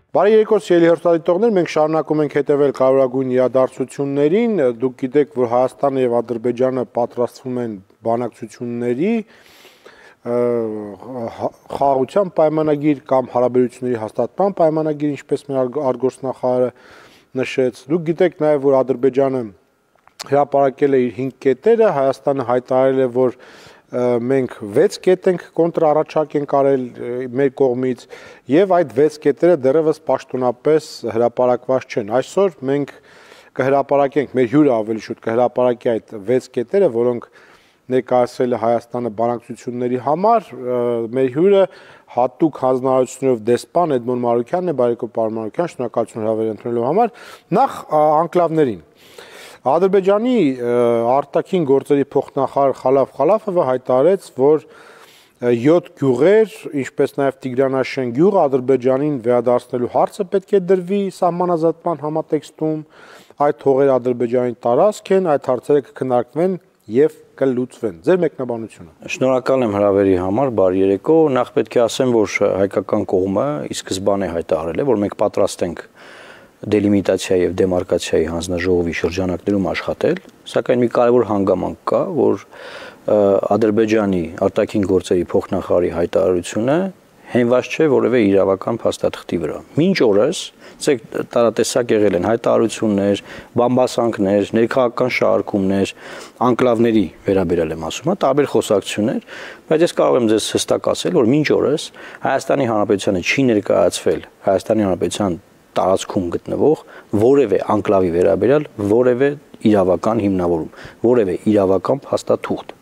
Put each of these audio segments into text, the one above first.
Բարի երեկո սիրելի հեռուստադիտողներ, մենք շարունակում ենք հետևել կարևորագույն իրադարձություններին։ Դուք գիտեք, որ Հայաստանը եւ Ադրբեջանը պատրաստվում են բանակցությունների խաղաղության պայմանագիր կամ հարաբերությունների հաստատման պայմանագիր, ինչպես մեր արտգործնախարարը նշեց։ Դուք գիտեք նաեւ, որ Ադրբեջանը հրապարակել է իր 5 կետերը, Հայաստանը հայտարարել է, որ մենք 6 կետ ենք կոնտրառաջարկ ենք արել մեր կողմից եւ այդ 6 կետերը դեռևս պաշտոնապես հրապարակված չեն։ Այսօր մենք կհրապարակենք, մեր հյուրը ավելի շուտ կհրապարակի այդ 6 կետերը, որոնք ներկայացրել է Հայաստանը բանակցությունների համար։ Մեր հյուրը հատուկ հանձնարարություններով դեսպան Էդմոն Մարուկյանն է, բարեկո պարոն Մարուկյան, շնորհակալություն հրավեր ընդունելու համար։ Նախ անկլավներին Ադրբեջանի արտաքին գործերի փոխնախարար Խալաֆ Խալաֆովը հայտարարեց, որ 7 գյուղեր, ինչպես նաև Տիգրանաշեն գյուղը Ադրբեջանին վերադարձնելու հարցը պետք է դրվի սահմանազատման համատեքստում, այդ հողերը Ադրբեջանի տարածք են, այդ հարցերը կքննարկվեն եւ կլուծվեն։ Ձեր մեկնաբանությունը։ Շնորհակալ եմ հրավերի համար, բարի երեկո։ Նախ պետք է ասեմ, որ հայկական կողմը ի սկզբանե հայտարարել է, որ մենք պատրաստ ենք դելիմիտացիա եւ դեմարկացիայի հանձնաժողովի շրջանակներում աշխատել, սակայն մի կարևոր հանգամանք կա, որ Ադրբեջանի արտաքին գործերի փոխնախարարի հայտարարությունը հենված չէ որևէ իրավական փաստաթղթի վրա։ Մինչ օրս տարատեսակ եղել են հայտարարություններ, բամբասանքներ, ներքաղաքական շարժումներ, անկլավների վերաբերյալ եմ ասում, տարբեր խոսակցություններ, բայց ես կարող եմ ձեզ հստակ ասել, որ մինչ օրս Հայաստանի Հանրապետությանը չի ներկայացվել Հայաստանի Հանրապետության տարածքում գտնվող որևէ անկլավի վերաբերյալ որևէ իրավական հիմնավորում, որևէ իրավական փաստաթուղթ։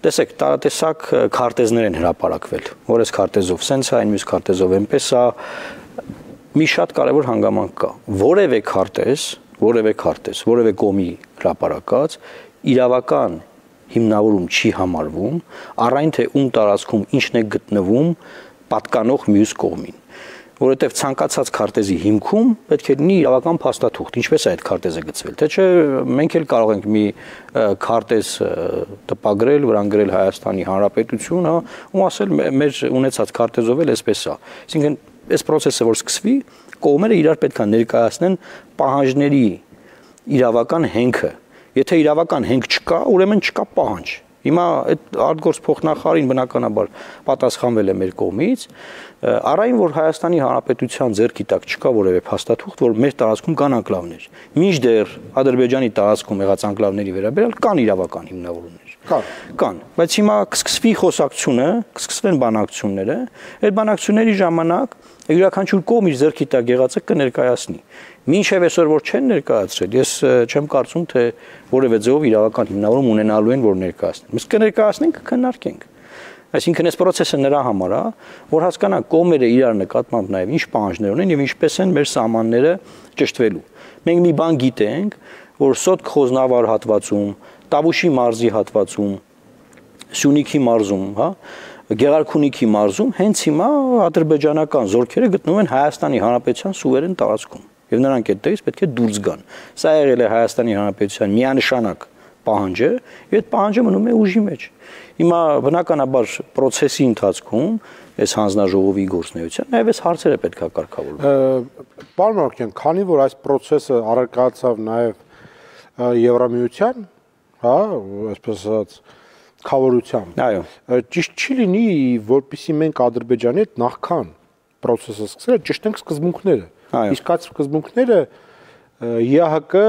Տեսեք, տարատեսակ քարտեզներ են հրապարակվել, որ այս քարտեզով սենց է, այն մյուս քարտեզով այնպես է, մի շատ կարևոր հանգամանք կա։ Որևէ քարտեզ, որևէ կողմի հրապարակած իրավական հիմնավորում չի համարվում, առայն թե ում տարածքում ինչն է գտնվում պատկանող մյուս կողմին։ Որովհետև ցանկացած քարտեզի հիմքում պետք է լինի իրավական փաստաթուղթ, ինչպես է այդ քարտեզը գծվել, թե չէ մենք էլ կարող ենք մի քարտեզ տպագրել, վրան գրել Հայաստանի Հանրապետություն, հա, ու ասել մեր ունեցած քարտեզով էլ էսպես է։ Այսինքն այս process-ը որ սկսվի, կողմերը իրար պետք է ներկայացնեն պահանջների իրավական հենքը։ Եթե իրավական հենք չկա, ուրեմն չկա պահանջ։ Հիմա այդ արտգործ փոխնախարարին բնականաբար պատասխանվել է մեր կողմից, առայն որ Հայաստանի Հանրապետության ձեռքի տակ չկա որևէ փաստաթուղթ, որ մեր տարածքում կան անկլավներ։ Մինչդեռ Ադրբեջանի տարածքում եղած անկլավների վերաբերյալ կան իրավական հիմնավորումներ։ Կան, բայց հիմա կսկսվի խոսակցությունը, կսկսվեն բանակցությունները, այդ բանակցությունների ժամանակ յուրաքանչյուր կողմ իր ձեռքի տակ եղածը կներկայացնի։ Մինչև այսօր որ չեն ներկայացրել, ես չեմ կարծում, թե որևէ ձևով իրավական հիմնավորում ունենալու են, որ ներկայացնեն։ Մենք կներկայացնենք, կքննարկենք։ Այսինքն այս process-ը նրա համար է, որ հասկանանք կողմերը իրար նկատմամբ նաև ինչ պահանջներ ունեն եւ ինչպես են մեր սահմանները ճշտվելու։ Մենք մի բան գիտենք, որ Սոտք Խոզնավար հատվածում, Տավուշի մարզի հատվածում, Սյունիքի մարզում, հա, Գեղարքունիքի մարզում հենց հիմա ադրբեջանական զորքերը գտնվում են Հայաստանի Հանրապետության սուվերեն տարածքում եւ նրանք այդտեղից պետք է դուրս գան։ Սա եղել է Հայաստանի Հանրապետության միանշանակ պահանջը, եւ այդ պահանջը մնում է ուժի մեջ։ Հիմա բնականաբար process-ի ընթացքում այս հանձնաժողովի գործունեության նաեւ այս հարցերը պետք է կարգավորվեն։ Պարոն Մարուկյան, քանի որ այս process-ը առարկացավ նաեւ Եվրամիության, հա, այսպես ասած խավորությամբ։ Այո։ Ճիշտ չի լինի, որպեսզի մենք Ադրբեջանի հետ նախքան process-ը սկսել ճշտենք սկզբունքները։ Իսկ այդ սկզբունքները ԵԱՀԿ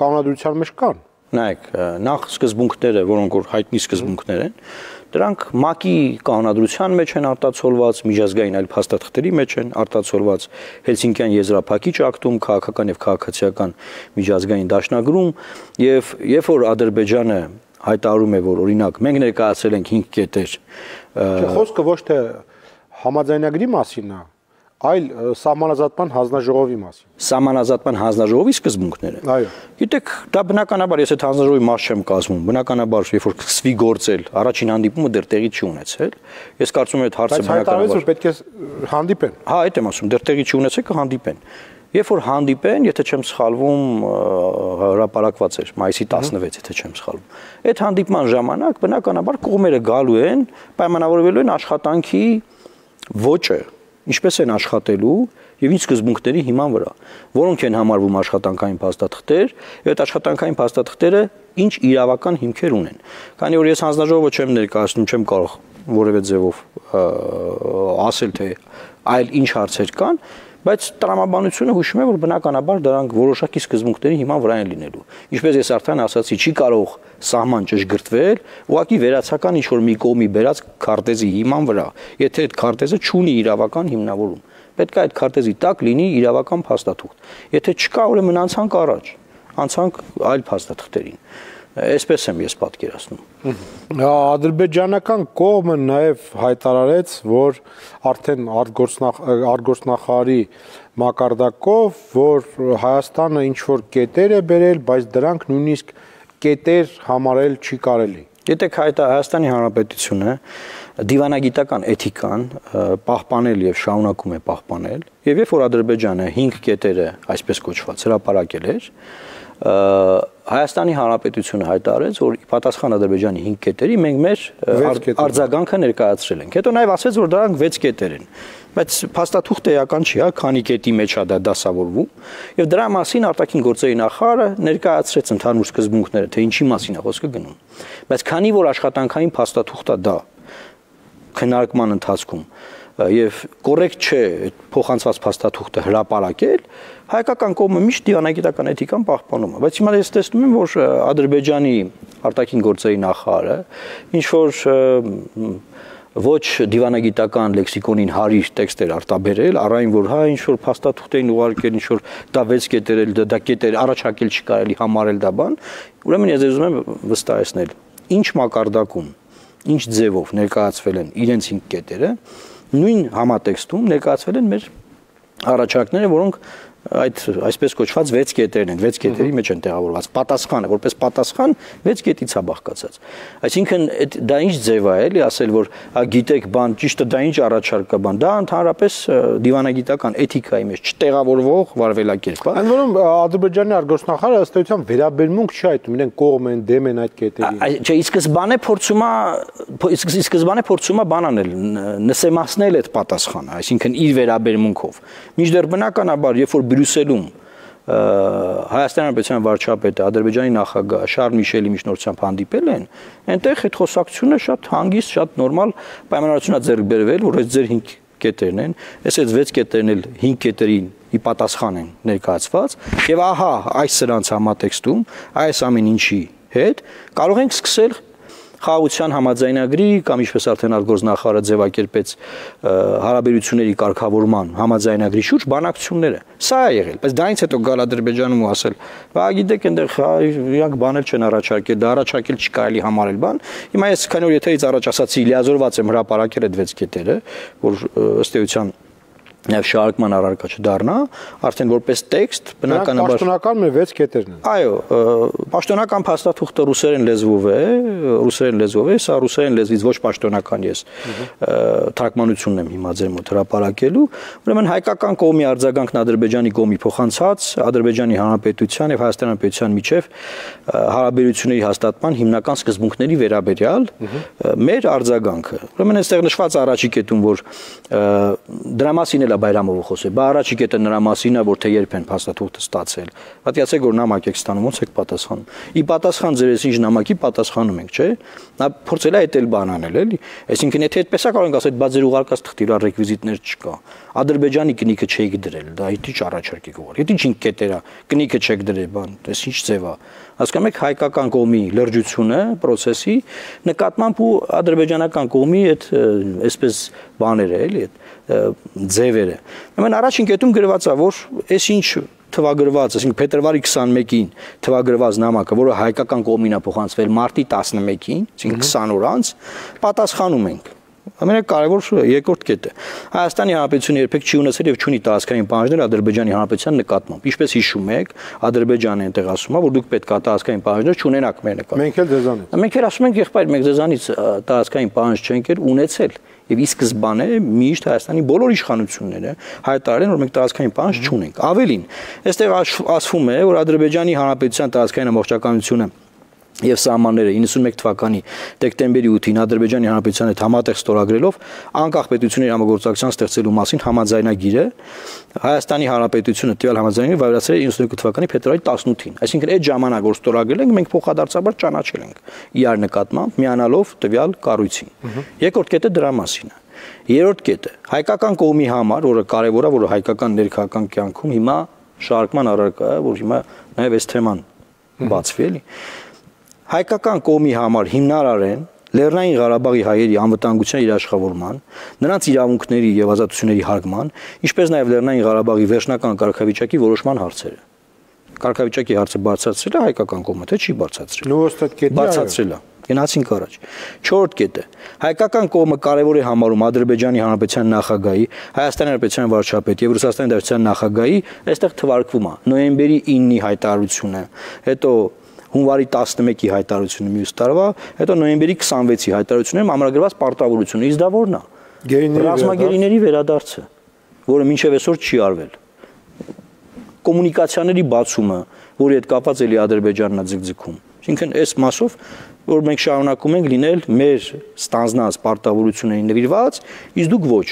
կանոնադրության մեջ կան։ Նայեք, նախ սկզբունքները, որոնք որ հայտնի սկզբունքներ են, դրանք ՄԱԿ-ի կանոնադրության մեջ են արտացոլված, միջազգային այլ փաստաթղթերի մեջ են արտացոլված, Հելսինկյան եզրափակիչ ակտում, քաղաքական եւ քաղաքացիական միջազգային դաշնագրում, եւ երբ որ Ադրբեջանը հայտարարում է, որ օրինակ մենք ներկայացրել ենք 5 կետեր։ Խոսքը ոչ թե համաձայնագրի մասին է, այլ սահմանազատման հանձնաժողովի մասին։ Սահմանազատման հանձնաժողովի սկզբունքները։ Այո։ Գիտեք, դա բնականաբար ես այդ հանձնաժողովի մաս չեմ կազմում, բնականաբար երբ որ սկսվի գործել, առաջին հանդիպումը դեռ տեղի չի ունեցել։ Ես կարծում եմ այդ հարցը բնականաբար որ պետք է հանդիպեն։ Հա, այդ եմ ասում, դեռ տեղի չի ունեցել, կհանդիպեն։ Երբ որ հանդիպեն, եթե չեմ սխալվում, հրապարակված էր մայիսի 16, եթե չեմ սխալվում։ Այդ հանդիպման ժամանակ բնականաբար կողմերը գալու են, պայմանավորվելու են աշխատանքի ոճը, ինչպես են աշխատելու եւ ինչ սկզբունքների հիման վրա, որոնք են համարվում աշխատանքային փաստաթղթեր, եւ այդ աշխատանքային փաստաթղթերը ինչ իրավական հիմքեր ունեն։ Քանի որ ես հանձնաժողովը չեմ ներկայացնում, չեմ կարող որևէ ձևով ասել թե այլ ինչ հարցեր կան, բայց տրամաբանությունը հուշում է, որ բնականաբար դրանք որոշակի սկզբունքների հիման վրա են լինելու։ Ինչպես ես արդեն ասացի, չի կարող սահման ճշգրտվել, ուղղակի վերացական ինչ-որ մի կողմի բերած քարտեզի հիման վրա, եթե այդ քարտեզը չունի իրավական հիմնավորում։ Պետք է այդ քարտեզի տակ լինի իրավական փաստաթուղթ։ Եթե չկա, ուրեմն անցանք առաջ, անցանք այլ փաստաթղթերին։ Այսպես եմ ես պատկերացնում։ Ադրբեջանական կողմը նաև հայտարարեց, որ արդեն արտգործնախարարի մակարդակով, որ Հայաստանը ինչ-որ կետեր է բերել, բայց դրանք նույնիսկ կետեր համարել չի կարելի։ Գիտեք, Հայաստանի Հանրապետությունը դիվանագիտական էթիկան պահպանել եւ շարունակում է պահպանել, եւ երբ որ Ադրբեջանը 5 կետերը, այսպես կոչված, հրապարակել էր, Հայաստանի Հանրապետությունը հայտարարեց, որ պատասխան Ադրբեջանի 5 կետերի մենք մեր արձագանքը ներկայացրել ենք։ Հետո նաև ասեց, որ դրանք 6 կետեր են։ Բայց փաստաթուղթը էական չի, քանի կետի մեջ է դա դասավորվում, եւ դրա մասին արտաքին գործերի նախարարը ներկայացրեց ընդհանուր սկզբունքները, թե ինչի մասին է խոսքը գնում։ Բայց քանի որ աշխատանքային փաստաթուղթը դա քննարկման ընթացքում եւ կոռեկտ չէ փոխանցված փաստաթուղթը հրապարակել, հայկական կողմը միշտ դիվանագիտական էթիկան պահպանում է, բայց հիմա ես տեսնում եմ, որ Ադրբեջանի արտաքին գործերի նախարարը ինչ որ ոչ դիվանագիտական լեքսիկոնին հարիր տեքստեր արտաբերել, առայն որ հա ինչ որ փաստաթուղթ էին ուղարկել, ինչ որ դա 6 կետեր էլ դա կետեր առաջարկել չի կարելի համարել դա բան, ուրեմն ես ուզում եմ վստահեցնել, ինչ մակարդակում, ինչ ձևով ներկայացվել են իրենց 5 կետերը, նույն համատեքստում ներկայացվել են մեր առաջարկները, որոնք այդ այսպես կոչված 6 կետերն են, 6 կետերի մեջ են տեղավորված։ Պատասխանը, որպես պատասխան 6 կետից է բաղկացած։ Այսինքն դա ինչ ձև է, էլի ասել, որ գիտեք, բան, ճիշտը դա ինչ առաջարկ է, բան, դա ընդհանրապես դիվանագիտական էթիկայի մեջ չտեղավորվող վարվելակերպ է։ Ընդ որում Ադրբեջանի արտգործնախարարը ըստ էության վերաբերմունք չի այտում, իրենք կողմ են, դեմ են այդ կետերին։ Չէ, սկզբանե փորձում է բան անել, նսեմացնել այդ պատասխանը, այսինքն իր վերաբերմունքով։ Մինչդեռ բնականաբար, երբ որ Բրյուսելում Հայաստանի Հանրապետության վարչապետը Ադրբեջանի նախագահ Շարլ Միշելի միջնորդությամբ հանդիպել են, այնտեղ այդ խոսակցությունը շատ հանգիստ, շատ նորմալ պայմանավորություն է ձեռք բերվել, որ այս ձեր 5 կետերն են, այս 6 կետերն էլ 5 կետերին ի պատասխան են ներկայացված, եւ ահա այս սրանց համատեքստում, այս ամեն ինչի հետ կարող ենք սկսել խաղաղության համաձայնագրի կամ ինչպես արդեն արտգործնախարարը ձևակերպեց հարաբերությունների կարգավորման համաձայնագրի շուրջ բանակցությունները։ Սա է եղել, բայց դրանից հետո գալ Ադրբեջանում ու ասել, «Բա գիտեք, այնտեղ իրանք բաներ չեն առաջարկել, դա առաջարկել չի կարելի համարել բան»։ Հիմա ես քանի որ եթերից առաջ ասացի, լիազորված եմ հրապարակել այդ 6 կետերը, որ ըստ էության Նաև շարժման առարկա չդառնա, արդեն որպես տեքստ բնականաբար պաշտոնական մեր 6 կետերն են։ Այո, պաշտոնական փաստաթուղթը ռուսերեն լեզվով է, սա ռուսերեն լեզվից ոչ պաշտոնական ես թարգմանությունն եմ հիմա ձեր մոտ հրապարակելու, ուրեմն հայկական կողմի արձագանքն Ադրբեջանի կողմի փոխանցած Ադրբեջանի Հանրապետության եւ Հայաստանի Հանրապետության միջև հարաբերությունների հաստատման հիմնական սկզբունքների վերաբերյալ մեր արձագանքը։ Ուրեմն այստեղ նշված առաջի կետում, որ դրա մասին Բայրամովը խոսել, բա առաջի կետը նրա մասին է, որ թե երբ են փաստաթուղթը ստացել։ Պատկերացեք, որ նամակ եք ստանում, ոնց եք պատասխանում։ Ի պատասխան ձեր ինչ նամակի պատասխանում ենք, չէ՞։ Նա փորձել է այդ էլ բան անել, էլի։ Այսինքն եթե այդպես է կարող ենք ասել, բա ձեր ուղարկած թղթի վրա ռեկվիզիտներ չկա։ Ադրբեջանի կնիքը չեք դրել, դա ի՞նչ առաջարկ եք ուղարկել։ Եթե ինչ կետեր է, կնիքը չեք դրել, բան, այս ինչ ձև է։ Հասկանում եք հայկական կողմի լրջությունը, process-ի նկատմամբ ու ադրբեջանական կողմի այդ այսպես բաները, էլի, այդ ձևերը։ Ուրեմն առաջին կետում գրված է, որ այս ինչ թվագրված, այսինքն փետրվարի 21-ին թվագրված նամակը, որը հայկական կողմին է փոխանցվել մարտի 11-ին, այսինքն 20 օր անց, պատասխանում ենք։ Ամենակարևոր երկրորդ կետը Հայաստանի Հանրապետությունը երբեք չի ունեցել եւ չունի տարածքային պահանջներ Ադրբեջանի Հանրապետության նկատմամբ։ Ինչպես հիշում եք, Ադրբեջանը այնտեղ ասում է, որ դուք պետք է տարածքային պահանջներ չունենաք մեր նկատմամբ։ Մենք էլ ձեզանից։ Մենք էլ ասում ենք, եղբայր, մենք ձեզանից տարածքային պահանջ չենք ունեցել։ Եվ ի սկզբանե միշտ Հայաստանի բոլոր իշխանությունները հայտարարել են, որ մենք տարածքային պահանջ չունենք։ Ավելին, այստեղ ասվում է, որ Ադրբեջանի Հանրապետության տարածքային ամբողջականությունը եւ սահմանները 91 թվականի դեկտեմբերի 8-ին Ադրբեջանի Հանրապետության հետ համատեղ ստորագրելով անկախ պետությունների համագործակցության ստեղծելու մասին համաձայնագիրը Հայաստանի Հանրապետությունը տվյալ համաձայնագիրը վավերացրել է 92 թվականի փետրվարի 18-ին, այսինքն այդ ժամանակ որ ստորագրել ենք մենք փոխադարձաբար ճանաչել ենք իրար նկատմամբ միանալով տվյալ կառույցին։ Երկրորդ կետը դրա մասին է։ Երրորդ կետը հայկական կողմի համար, որը կարևոր է, որը հայկական ներքաղաքական կյանքում հիմա շարժման առարկա է, որ հիմա նաեւ այս թեման բացվի էլի։ Հայկական կողմի համար հիմնարար են Լեռնային Ղարաբաղի հայերի անվտանգության երաշխավորման, նրանց իրավունքների եւ ազատությունների հարգման, ինչպես նաեւ Լեռնային Ղարաբաղի վերջնական կարգավիճակի որոշման հարցերը։ Կարգավիճակի հարցը բարձրացրել է հայկական կողմը, թե չի բարձրացրել։ Նույնիսկ կետը բարձրացրել է։ Գնացինք առաջ։ Չորրորդ կետը հայկական կողմը կարևոր է համարում Ադրբեջանի Հանրապետության նախագահի, Հայաստանի Հանրապետության վարչապետի եւ Ռուսաստանի Դաշնության նախագահի այստեղ թվարկվում է նոյեմբերի 9-ի հայտարարությունը, հետո հունվարի 11-ի հայտարարությունը մյուս տարվա, հետո նոյեմբերի 26-ի հայտարարություններում ամրագրված պարտավորությունը, իսկ դա ո՞րն է։ Ռազմագերիների վերադարձը, որը մինչև այսօր չի արվել։ Կոմունիկացիաների բացումը, որի հետ կապված էլի Ադրբեջանն է ձգձգում։ Այսինքն այս մասով որ մենք շարունակում ենք լինել մեր ստանձնած պարտավորություններին նվիրված, իսկ դուք ոչ,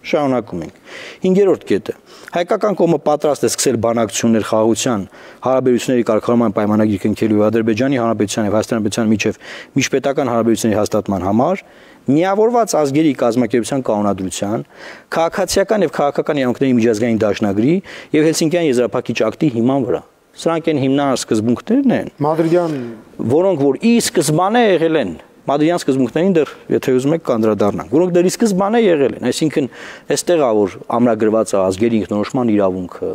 շարունակում ենք։ Հինգերորդ կետը հայկական կողմը պատրաստ է սկսել բանակցություններ խաղաղության հարաբերությունների կարգավորման պայմանագիր կնքելու եւ Ադրբեջանի Հանրապետության եւ Հայաստանի Հանրապետության միջև միջպետական հարաբերությունների հաստատման համար միավորված ազգերի կազմակերպության կանոնադրության, քաղաքացիական եւ քաղաքական իրավունքների միջազգային դաշնագրի եւ Հելսինկյան եզրափակիչ ակտի հիման վրա։ Սրանք են հիմնական սկզբունքներն են, Մադրիդյան, որոնք որ ի սկզբանե եղել են Մադրիդյան սկզբունքներին դեռ եթե ուզում եք կանդրադառնանք, որոնք դեռ ի սկզբանե եղել են, այսինքն այստեղ է որ ամրագրված է ազգերի ինքնորոշման իրավունքը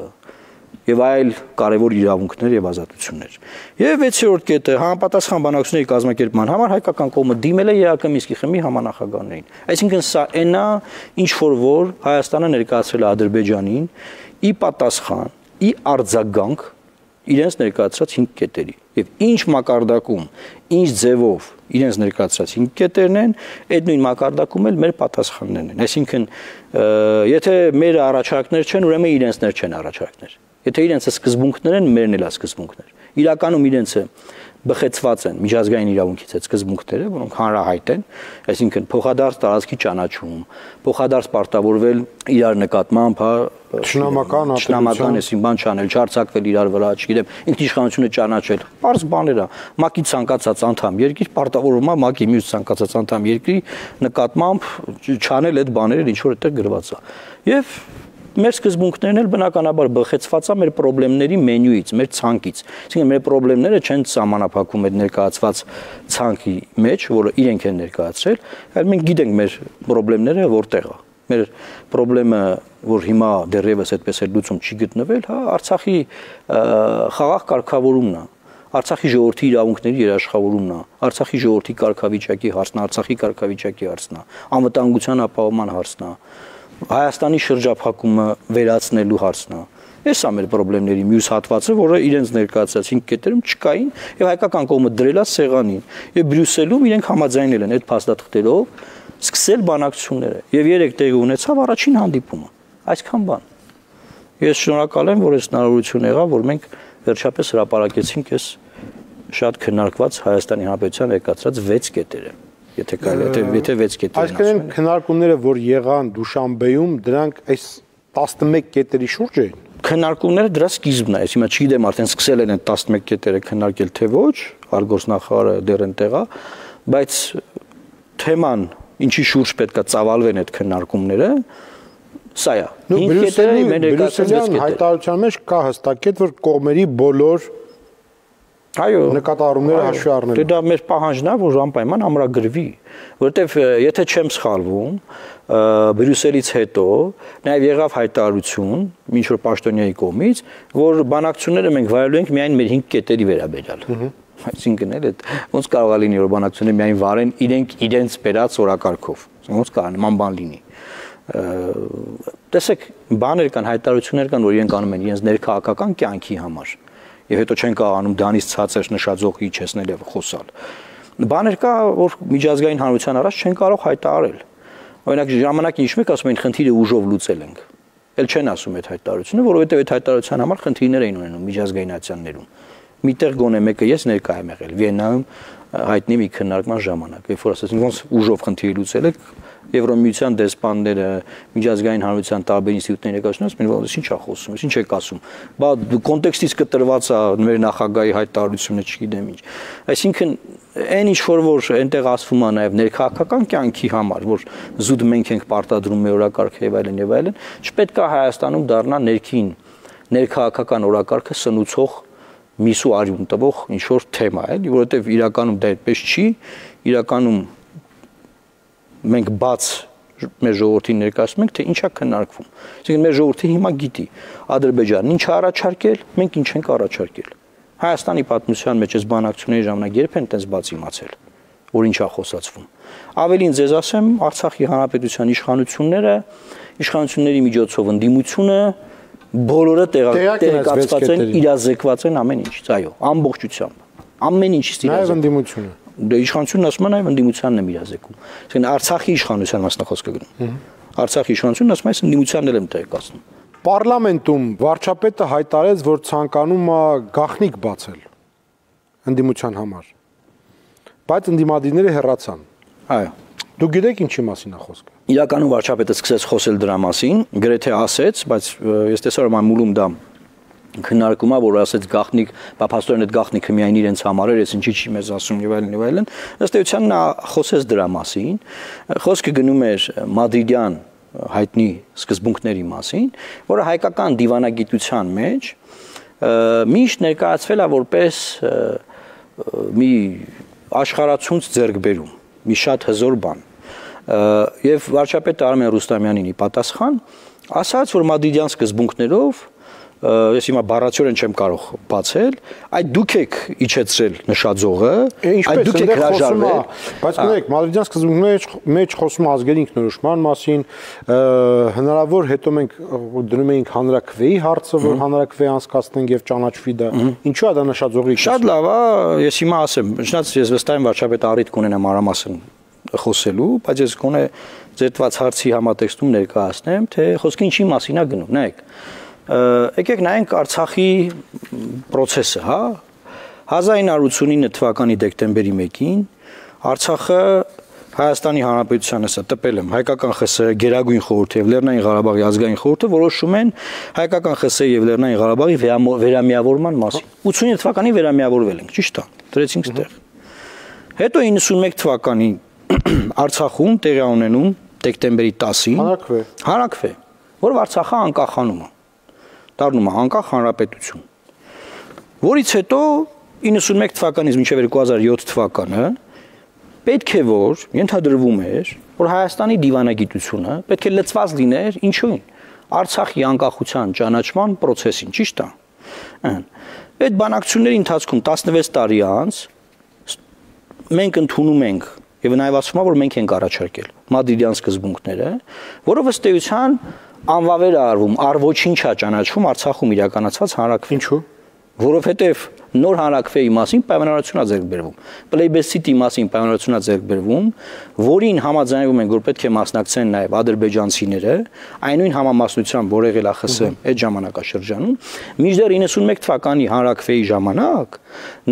եւ այլ կարևոր իրավունքներ եւ ազատություններ։ Եվ 6-րդ կետը համապատասխան բանակցությունների կազմակերպման համար հայկական կողմը դիմել է ԵԱԿ Մինսկի խմբի համանախագահներին։ Այսինքն սա այնա, ինչ որ Հայաստանը ներկայացրել է Ադրբեջանին ի պատասխան, ի արձագանք իրենց ներկայացրած 5 կետերի եւ ինչ մակարդակում, ինչ ձևով իրենց ներկայացրած 5 կետերն են, այդ նույն մակարդակում էլ մեր պատասխաններն են։ Այսինքն, եթե մեր առաջարկներ չեն, ուրեմն իրենցներ չեն առաջարկներ։ Եթե իրենցը սկզբունքներ են, մերն էլ է սկզբունքներ։ Իրականում իրենցը բխեցված են միջազգային իրավունքից այդ սկզբունքները, որոնք հանրահայտ են, այսինքն փոխադարձ տարածքի ճանաչում, փոխադարձ պարտավորվել իրար նկատմամբ, շնամական էսին բան չանել, չարձակվել իրար վրա, չգիտեմ, ինքնիշխանությունը ճանաչել, པարզ բաներ է, ՄԱԿ-ի ցանկացած անդամ երկիր պարտավորվում է ՄԱԿ-ի մյուս ցանկացած անդամ երկրի նկատմամբ չանել այդ բաները, ինչ որ այդտեղ գրված է։ Եվ մեր սկզբունքներն էլ բնականաբար բխեցված է մեր խնդիրների մենյուից, մեր ցանկից։ Այսինքն մեր խնդիրները չեն սահմանափակվում այդ ներկայացված ցանկի մեջ, որը իրենք են ներկայացրել, այլ մենք գիտենք մեր խնդիրները որտեղ է։ Մեր խնդրեմը, որ հիմա դեռևս այդպես էլ լուծում չի գտնվել, հա, Արցախի խաղաղ կարգավորումն է։ Արցախի ժողովրդի իրավունքների երաշխավորումն է, Արցախի ժողովրդի կարգավիճակի հարցն է, Արցախի կարգավիճակի հարցն է, անվտանգության ապահովման հարցն է, Հայաստանի շրջափակումը վերացնելու հարցն է։ Այս է մեր խնդիրների մյուս հատվածը, որը իրենց ներկայացած 5 կետերում չկային, եւ հայկական կողմը դրել է սեղանին, եւ Բրյուսելում իրենք համաձայնել են այդ փաստաթղթերով սկսել բանակցությունները, եւ 3 տեղի ունեցավ առաջին հանդիպումը։ Այսքան բան։ Ես շնորհակալ եմ, որ այս հնարավորությունը եղավ, որ մենք վերջապես հրապարակեցինք այս շատ քննարկված Հայաստանի Հանրապետության ներկայացած 6 կետերը։ Եթե կարելի է, եթե 6 կետերն այսինքն քննարկումները, որ եղան Դուշանբեում, դրանք այս 11 կետերի շուրջ էին։ Քննարկումները դրա սկիզբն է, հիմա չգիտեմ արդեն սկսել են այդ 11 կետերը քննարկել թե ոչ, արտգործնախարարը դեռ այնտեղ է, բայց թեման ինչի շուրջ պետքա ծավալվեն այդ քննարկումները, սա է։ 5 կետերը մեր ներկայացած 6 կետեր։ Հայտարարության մեջ կա հստակ կետ, որ կողմերի բոլոր Այո, նկատառումները հաշվի առնել։ Դե դա մեր պահանջն է, որ անպայման ամրագրվի, որովհետև եթե չեմ սխալվում, Բրյուսելից հետո նաև եղավ հայտարարություն, ինչ որ պաշտոնյայի կողմից, որ բանակցությունները մենք վարելու ենք միայն մեր 5 կետերի վերաբերյալ։ Այսինքն էլ այդ ոնց կարող է լինի, որ բանակցությունները միայն վարեն իրենց բերած օրակարգով։ Ոնց կարող նման բան լինի։ Տեսեք, բաներ կան, հայտարարություններ կան, որ իրենք անում են իրենց ներքաղաքական կյանքի համար։ Եվ հետո չեն կարողանում դանից ցածր նշաձողի իջեցնել եւ խոսալ։ Բաներ կա, որ միջազգային հանրության առաջ չեն կարող հայտարարել։ Օրինակ ժամանակին ինչ մեկ ասում են խնդիրը ուժով լուծել ենք։ Էլ չեն ասում այդ հայտարարությունը, որովհետեւ այդ հայտարարության համար խնդիրներ էին ունենում միջազգային ատյաններում։ Միտեղ գոնե մեկը ես ներկա եմ եղել Վիեննայում հայտնի մի քննարկման ժամանակ, երբ որ ասեցին ոնց ուժով խնդիրը լուծել եք Եվրոմիության դեսպանները, միջազգային հանրության տարբեր ինստիտուտների ներկայացնած, մեն ոնց ինչ է խոսում, ինչ եք ասում։ Բա կոնտեքստից կտրված է մեր նախագահի հայտարարությունը, չգիտեմ ինչ։ Այսինքն այն ինչ որ այնտեղ ասվում է նաև ներքաղաքական կյանքի համար, որ զուտ մենք ենք պարտադրում մեր օրակարգը եւ այլն, չպետք է Հայաստանում դառնա ներքաղաքական օրակարգը սնուցող միսու արյուն տվող ինչ որ թեմա է, որովհետեւ իրականում դա այդպես չի, իրականում մենք բաց մեր ժողովրդին ներկայացնում ենք, թե ինչա քննարկվում։ Այսինքն մեր ժողովրդը հիմա գիտի Ադրբեջանն ինչ է առաջարկել, մենք ինչ ենք առաջարկել։ Հայաստանի պատմության մեջ այս բանակցությունների ժամանակ երբ են այդպես բաց իմացել, որ ինչ է խոսացվում։ Ավելին ձեզ ասեմ, Արցախի հանրապետության իշխանությունների միջոցով ընդդիմությունը բոլորը տեղեկացված են, իրազեկված են ամեն ինչից, այո, ամբողջությամբ։ Ամեն ինչից իրազեկված։ Նաև ընդդիմությունը։ Դե իշխանությունն ասում է նաև ընդդիմությանն եմ իրազեկում։ Այսինքն Արցախի իշխանության մասնախոսքը գնում։ Արցախի իշխանությունն ասում է, այս ընդդիմությանն եմ տեղեկացնում։ Պարլամենտում վարչապետը հայտարարեց, որ ցանկանում է գաղտնիք բացել ընդդիմության համար։ Բայց ընդդիմադիրները հեռացան։ Այո։ Դուք գիտեք ինչի մասին է խոսքը։ Իրականում վարչապետը սկսեց խոսել դրա մասին, գրեթե ասեց, բայց ես տեսա որ մամուլում դա քննարկում է, որ ասեց գաղտնիք, փաստորեն այդ գաղտնիքը միայն իրենց համար էր, ես ինչի չի մեզ ասում եւ այլն։ Ըստ էության նա խոսեց դրա մասին։ Խոսքը գնում էր մադրիդյան հայտնի սկզբունքների մասին, որը հայկական դիվանագիտության մեջ միշտ ներկայացվել է որպես մի աշխարհացունց ձեռքբերում, մի շատ հզոր բան։ Եվ վարչապետ Արմեն Ռուստամյանին ի պատասխան ասաց, որ մադրիդյան սկզբունքներով ես հիմա բառացիորեն չեմ կարող բացել, այդ դուք եք իջեցրել նշաձողը, այդ դուք եք հրաժարվել, բայց գիտեք, մադրիդյան սկզբունքների մեջ խոսում է ազգերի ինքնորոշման մասին, հնարավոր հետո մենք դնում էինք հանրաքվեի հարցը, որ հանրաքվե անցկացնենք եւ ճանաչվի դա։ Ինչու է դա նշաձողի։ Շատ լավ է, ես հիմա ասեմ, չնայած ես վստահ եմ վարչապետը առիթ կունենա մանրամասն խոսելու, բայց ես գոնե ձերտված հարցի համատեքստում ներկայացնեմ, թե խոսքը ինչի մասին է գնում, նայեք։ Եկեք նայենք Արցախի process-ը, հա 1989 թվականի դեկտեմբերի 1-ին Արցախը Հայաստանի Հանրապետությանը տպել եմ հայկական ԽՍՀ Գերագույն խորհուրդը եւ Լեռնային Ղարաբաղի ազգային խորհուրդը որոշում են հայկական ԽՍՀ եւ Լեռնային Ղարաբաղի վերամիավորման մասին 89 թվականին վերամիավորվել ենք, ճիշտ է, դրեցինք ստեղ։ Հետո 91 թվականին Արցախում տեղի ունենում դեկտեմբերի 10-ին հանրաքվե, որով Արցախը անկախանում է, դառնում է անկախ հանրապետություն, որից հետո 91 թվականից մինչև 2007 թվականը պետք է որ ենթադրվում էր, որ Հայաստանի դիվանագիտությունը պետք է լծված լիներ ինչու՞ին Արցախի անկախության ճանաչման process-ին, ճիշտ է։ Այդ բանակցությունների ընթացքում 16 տարի անց մենք ընդունում ենք եւ նաեւ ասում եմ որ մենք ենք առաջարկել մադրիդյան սկզբունքները, որով ըստ էության անվավեր է արվում, առ ոչինչ է ճանաչվում Արցախում իրականացված հանրաքվե։ Ինչու՞։ Որովհետեւ նոր հանրաքվեի մասին պայմանավորություն է ձեռք բերվում, պլեյբեսիտի մասին պայմանավորություն է ձեռք բերվում, որին համաձայնվում են, որ պետք է մասնակցեն նաեւ ադրբեջանցիները, այնույն համամասնությամբ, որ եղել է ԽՍՀՄ այդ ժամանակաշրջանում, մինչդեռ 91 թվականի հանրաքվեի ժամանակ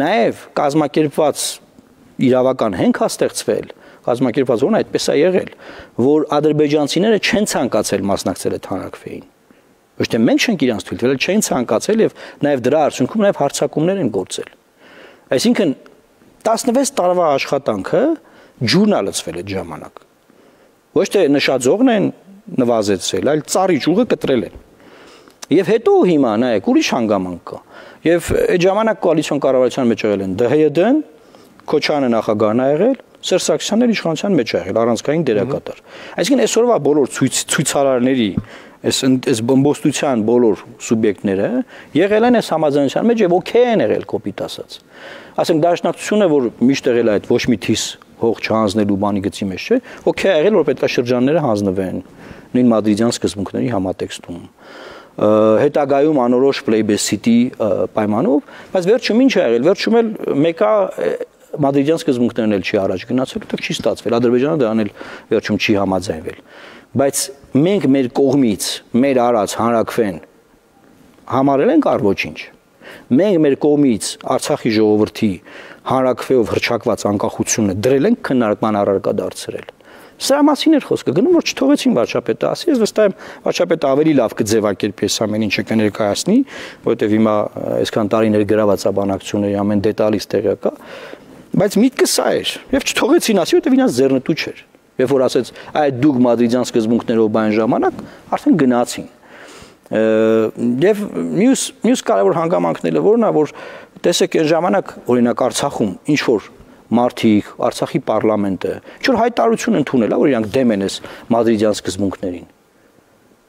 նաեւ կազմակերպված իրավական հենք է ստեղծվել, կազմակերպված որն այդպես է եղել, որ ադրբեջանցիները չեն ցանկացել մասնակցել այդ հանրաքվեին։ Ոչ թե մենք չենք իրանց թույլ տվել, չեն ցանկացել եւ նաեւ դրա արդյունքում նաեւ հարձակումներ են գործել։ Այսինքն 16 տարվա աշխատանքը ջուրն է լցվել այդ ժամանակ։ Ոչ թե նշաձողն են նվազեցրել, այլ ծառի ճյուղը կտրել են։ Եվ հետո հիմա նայեք ուրիշ հանգամանք կա։ Եվ այդ ժամանակ կոալիցիոն կառավարության մեջ եղել են ԴՀՅԴ-ն, Քոչարյանը նախագահն է եղել, Սերժ Սարգսյանն իշխանության մեջ է եղել առանցքային դերակատար։ Այսինքն այսօրվա բոլոր ցույցարարների այս բոմբոստության բոլոր սուբյեկտները եղել են այս համաձայնության մեջ եւ օքեյ են եղել կոպիտ ասած։ Ասենք դաշնակցությունը, որ միշտ եղել է այդ ոչ մի թիս հող չհանձնելու բանի գծի մեջ, չէ, օքեյ է եղել, որ պետքաշրջանները հանձնվեն նույն մադրիդյան սկզբունքների համատեքստում։ Հետագայում անորոշ պլեյբեսիտի պայմանով, բայց վերջում ինչ է եղել, վերջում էլ մեկը մադրիդյան սկզբունքներն էլ չի առաջ գնացել, որտեղ չի ստացվել, Ադրբեջանը դրան էլ վերջում չի համաձայնվել։ Բայց մենք մեր կողմից մեր արած հանրաքվեն համարել ենք առ ոչինչ։ Մենք մեր կողմից Արցախի ժողովրդի հանրաքվեով հռչակված անկախությունը դրել ենք քննարկման առարկա դարձրել։ Սրա մասին էր խոսքը, գնում որ չթողեցին վարչապետը ասի, ես վստահ եմ վարչապետը ավելի լավ կձևակերպի այս ամեն ինչը կներկայացնի, որովհետև հիմա այսքան տարիներ գրաված բանակցությունների ամեն դետալից տեղյակ է, բայց միտքը սա էր, եւ չթողեցին ասի, որովհետև ինձ ձեռնտու չէր։ Երբ որ ասեց, այդ դուք մադրիդյան սկզբունքներով բան ժամանակ, արդեն գնացին։ Եվ մյուս կարևոր հանգամանքն որն է, որ տեսեք այն ժամանակ օրինակ Արցախում ինչ որ մարդիկ, Արցախի պարլամենտը, ինչ որ հայտարարություն ընդունել, որ իրանք դեմ են այս մադրիդյան սկզբունքներին։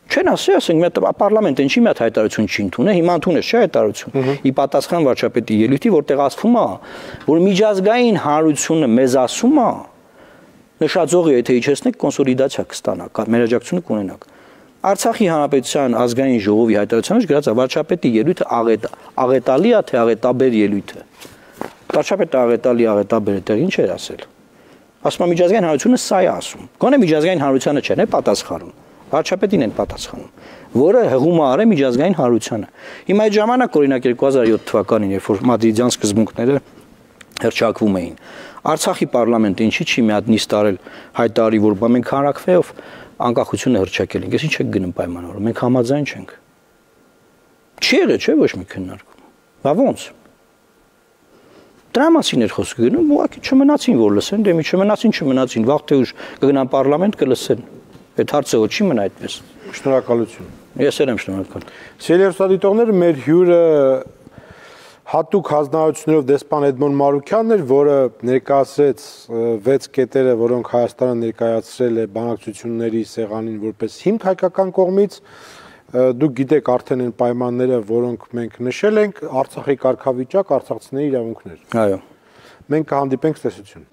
Չեն ասենք մի հատ պարլամենտը ինչի մի հատ հայտարարություն չի ընդունել, հիմա ընդունես չէ հայտարարություն։ Ի պատասխան վարչապետի ելույթի, որտեղ ասվում է, որ միջազգային հանրությունը մեզ ասում է, նշաձողը եթե իջեցնեք կոնսոլիդացիա կստանա, մեր աջակցությունը կունենաք։ Արցախի հանրապետության ազգային ժողովի հայտարարության մեջ գրած է վարչապետի ելույթը աղետալի է թե աղետաբեր ելույթ է։ Վարչապետը աղետաբեր տեղ ինչ էր ասել։ Ասում է միջազգային հանրությունը սա է ասում։ Գոնե միջազգային հանրությանը չեն է պատասխանում։ Վարչապետին են պատասխանում, որը հղում է արել միջազգային հանրությանը։ Հիմա այդ ժամանակ օրինակ 2007 թվականին, երբ որ մադրիդյան սկզբունքները հռչակվում էին, Արցախի պարլամենտը ինչի չի մի հատ նիստ արել հայտարարի, որ մենք հանրաքվեով անկախությունը հռչակել ենք, ես ինչ եք գնում պայմանավորը, մենք համաձայն չենք։ Չի եղել, չէ՞ ոչ մի քննարկում։ Բա ոնց։ Դրա մասին էր խոսքը գնում, ուղղակի չմնացին որ լսեն, դե մի չմնացին, վաղ թե ուշ կգնան պարլամենտ կլսեն։ Այդ հարցը ոչ չի մնա այդպես։ Շնորհակալություն։ Ես եմ շնորհակալ։ Սիրելի հեռուստադիտողներ, մեր հյուրը հատուկ հանձնարարություններով դեսպան Էդմոն Մարուքյանն էր, որը ներկայացրեց 6 կետերը, որոնք Հայաստանը ներկայացրել է բանակցությունների սեղանին որպես հիմք հայկական կողմից։ Դուք գիտեք արդեն այն պայմանները, որոնք մենք նշել ենք, Արցախի կարգավիճակ, արցախցիների իրավունքներ։ Այո։ Մենք կհանդիպենք, տեսություն։